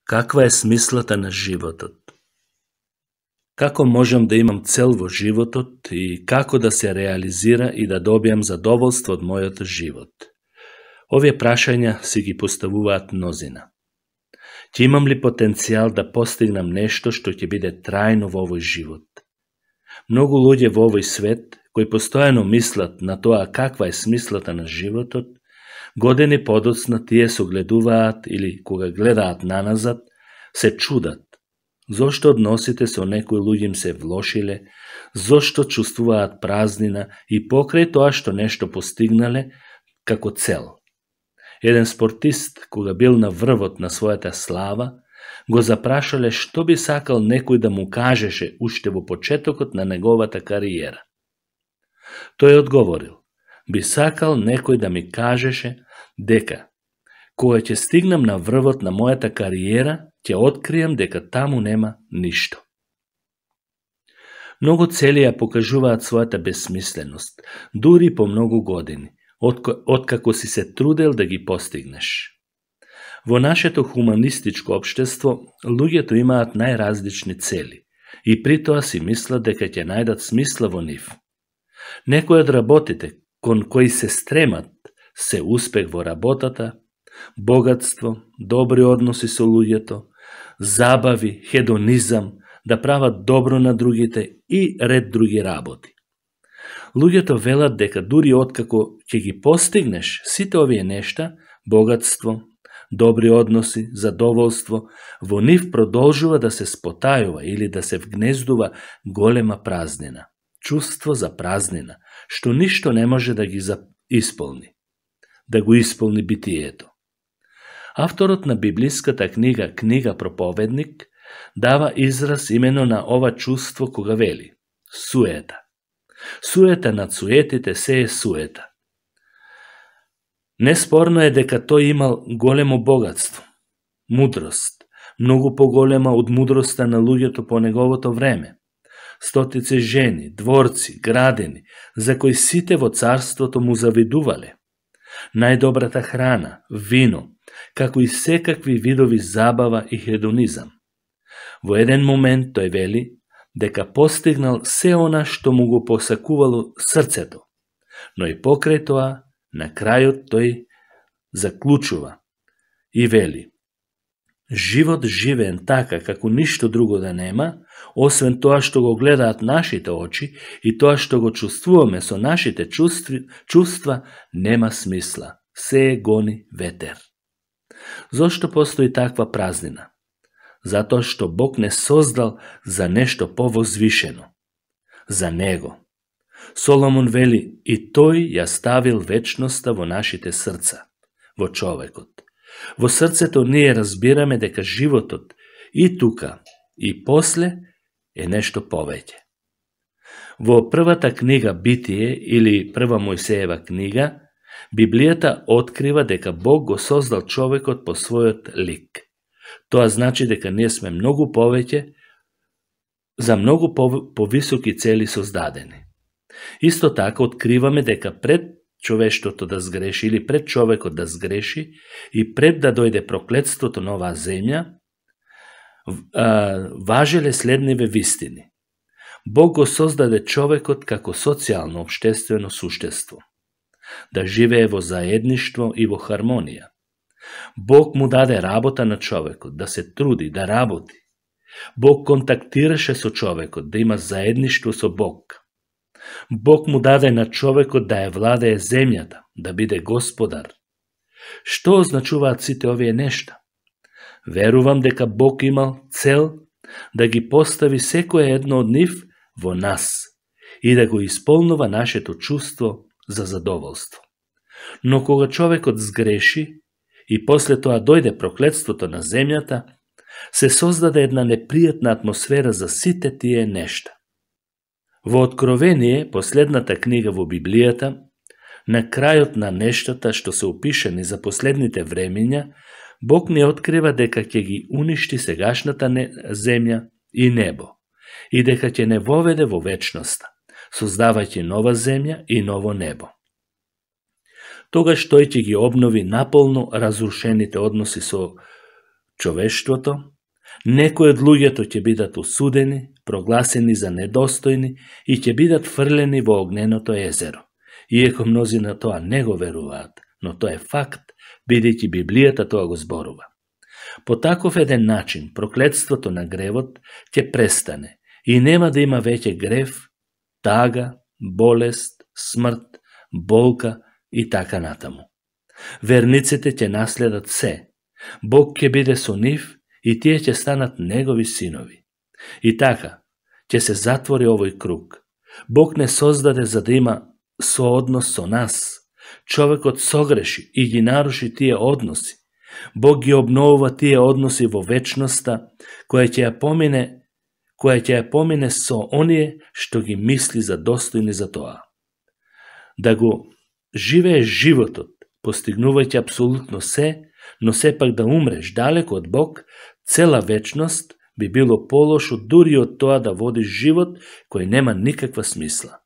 Каква е смислата на животот? Како можам да имам цел во животот и како да се реализира и да добијам задоволство од мојот живот? Овие прашања си ги поставуваат мнозина. Ќе имам ли потенцијал да постигнам нешто што ќе биде трајно во овој живот? Многу луѓе во овој свет, кои постојано мислат на тоа каква е смислата на животот, години подоцна тие согледуваат или кога гледаат наназад, се чудат. Зошто односите со некои луѓе им се влошиле, зошто чувствуваат празнина и покрај тоа што нешто постигнале како цел. Еден спортист, кога бил на врвот на својата слава, го запрашале што би сакал некој да му кажеше уште во почетокот на неговата кариера. Тој одговорил: би сакал некој да ми кажеше дека кога ќе стигнам на врвот на мојата кариера, ќе откријам дека таму нема ништо. Многу цели ја покажуваат својата бесмисленост, дури по многу години, откако си се трудел да ги постигнеш. Во нашето хуманистичко општество, луѓето имаат најразлични цели и при тоа си мислат дека ќе најдат смисла во нив. Некои од работите кон кои се стремат се успех во работата, богатство, добри односи со луѓето, забави, хедонизам, да прават добро на другите и ред други работи. Луѓето велат дека дури откако ќе ги постигнеш сите овие нешта, богатство, добри односи, задоволство, во нив продолжува да се спотајува или да се вгнездува голема празнина, чувство за празнина, што ништо не може да ги исполни, да го исполни битието. Авторот на библиската книга Проповедник, дава израз имено на ова чувство кога вели: суета. Суета над суетите се е суета. Неспорно е дека тој имал големо богатство, мудрост, многу поголема од мудроста на луѓето по неговото време. Стотици жени, дворци, градини, за кои сите во царството му завидувале. Најдобрата храна, вино, како и секакви видови забава и хедонизам. Во еден момент тој вели дека постигнал се она што му го посакувало срцето, но и покрај тоа, на крајот тој заклучува и вели: живот живеен така како ништо друго да нема, освен тоа што го гледаат нашите очи и тоа што го чувствуваме со нашите чувства, нема смисла, се гони ветер. Зошто постои таква празнина? Затоа што Бог не создал за нешто повозвишено, за Него. Соломон вели: и тој ја ставил вечноста во нашите срца, во човекот. Во срцето ние разбираме дека животот и тука, и после е нешто повеќе. Во првата книга Битие или прва Мојсеева книга, Библијата открива дека Бог го создал човекот по својот лик. Тоа значи дека ние сме многу повеќе, за многу повисоки цели создадени. Исто така откриваме дека пред човештвото да сгреши или пред човекот да сгреши и пред да дојде проклетството на оваа земја, важеле следниве вистини. Бог го создаде човекот како социјално општествено суштество, да живее во заедништво и во хармонија. Бог му даде работа на човекот, да се труди, да работи. Бог контактираше со човекот, да има заедништво со Бог. Бог му даде на човекот да ја владее земјата, да биде господар. Што означуваат сите овие нешта? Верувам дека Бог имал цел да ги постави секое едно од нив во нас и да го исполнува нашето чувство за задоволство. Но кога човекот сгреши и после тоа дојде проклетството на земјата, се создаде една непријатна атмосфера за сите тие нешта. Во Откровение, последната книга во Библијата, на крајот на нештата што се опишани за последните времиња, Бог не открива дека ќе ги уништи сегашната земја и небо и дека ќе не воведе во вечноста, создавајќи нова земја и ново небо. Тогаш тој ќе ги обнови наполно разрушените односи со човештвото, некои од луѓето ќе бидат осудени, прогласени за недостојни и ќе бидат фрлени во огненото езеро. Иако мнози на тоа не го веруваат, но тоа е факт, бидејќи Библијата тоа го зборува. По таков еден начин, проклетството на гревот ќе престане и нема да има веќе грев, тага, болест, смрт, болка и така натаму. Верниците ќе наследат се. Бог ќе биде со нив и тие ќе станат негови синови. И така, ќе се затвори овој круг. Бог не создаде за да има сооднос со нас. Човекот согреши и ги наруши тие односи. Бог ги обновува тие односи во вечноста, која ќе ја помине со оние што ги мисли за достојни за тоа. Да го живееш животот, постигнувајќи апсолутно се, но сепак да умреш далеко од Бог, цела вечност би било полошо дури од тоа да водиш живот кој нема никаква смисла.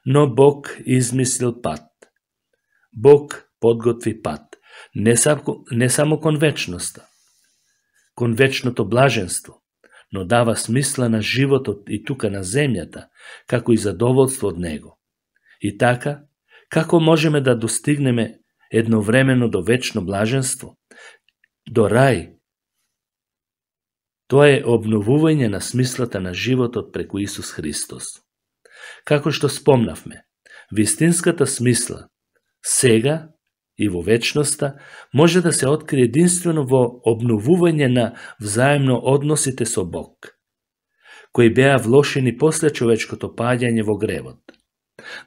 Но Бог измислил пат. Бог подготви пат, не само кон вечноста, кон вечното блаженство, но дава смисла на животот и тука на земјата, како и задоволство од него. И така, како можеме да достигнеме едновремено до вечно блаженство, до рај? Тоа е обновување на смислата на животот преку Исус Христос. Како што спомнавме, вистинската смисла сега и во вечноста може да се открие единствено во обновување на взаемно односите со Бог, кои беа влошени после човечкото паѓање во гревот.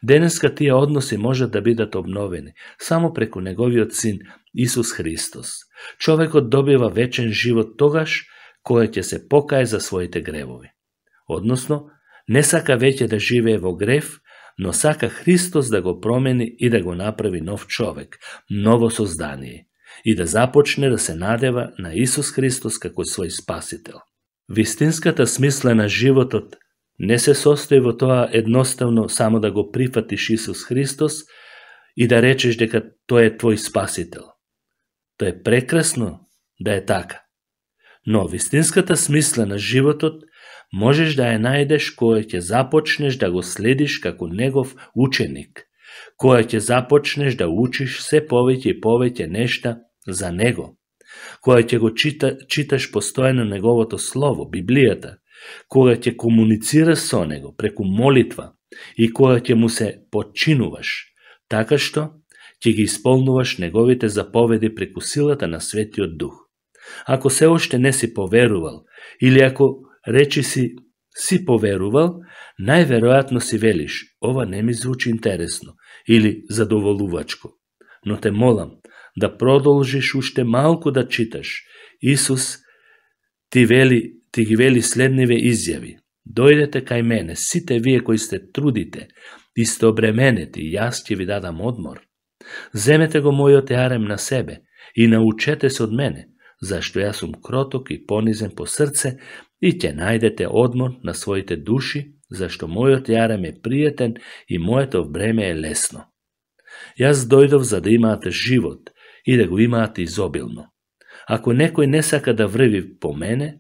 Денеска тие односи можат да бидат обновени само преку неговиот син Исус Христос. Човекот добива вечен живот тогаш кој ќе се покае за своите гревови. Односно, не сака веќе да живее во грев, но сака Христос да го промени и да го направи нов човек, ново создание, и да започне да се надева на Исус Христос како свој спасител. Вистинската смисла на животот не се состои во тоа едноставно само да го прифатиш Исус Христос и да речеш дека тој е твој спасител. Тоа е прекрасно да е така. Но вистинската смисла на животот можеш да ја најдеш која ќе започнеш да го следиш како негов ученик, која ќе започнеш да учиш се повеќе и повеќе нешта за него, која ќе го читаш постојано неговото слово, Библијата, кога ќе комуницираш со него преку молитва и кога ќе му се подчинуваш, така што ќе ги исполнуваш неговите заповеди преку силата на Светиот Дух. Ако се уште не си поверувал, или ако речи си поверувал, најверојатно си велиш, ова не ми звучи интересно или задоволувачко. Но те молам да продолжиш уште малку да читаш. Исус ти ги вели следниве изјави. Дојдете кај мене, сите вие кои сте трудите и сте обременети, јас ќе ви дадам одмор. Земете го мојот јарем на себе и научете се од мене, зашто јас сум кроток и понизен по срце, и ќе најдете одмор на своите души, зашто мојот јарем е пријатен и моето бреме е лесно. Јас дојдов за да имаате живот и да го имаате изобилно. Ако некој не сака да врви по мене,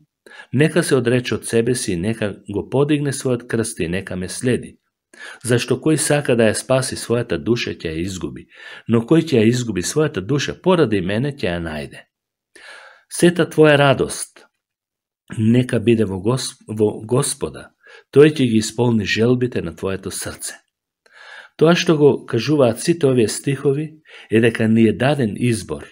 нека се одрече од себе си и нека го подигне својот крст и нека ме следи. Зашто кој сака да ја спаси својата душа ќе ја изгуби, но кој ќе ја изгуби својата душа поради мене ќе ја најде. Сета твоја радост нека биде во Господа, тој ќе ги исполни желбите на твоето срце. Тоа што го кажуваат сите овие стихови е дека ни е даден избор.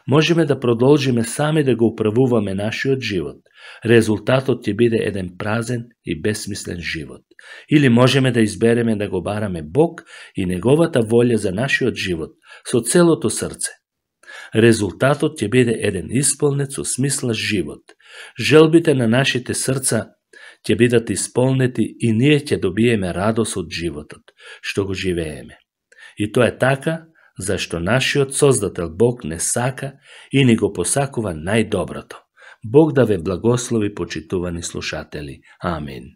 Можеме да продолжиме сами да го управуваме нашиот живот. Резултатот ќе биде еден празен и безсмислен живот. Или можеме да избереме да го бараме Бог и неговата волја за нашиот живот со целото срце. Резултатот ќе биде еден исполнет со смисла живот. Желбите на нашите срца ќе бидат исполнети и ние ќе добиеме радост од животот, што го живееме. И тоа е така, зашто нашиот Создател Бог не сака и ни го посакува најдоброто. Бог да ве благослови, почитувани слушатели. Амин.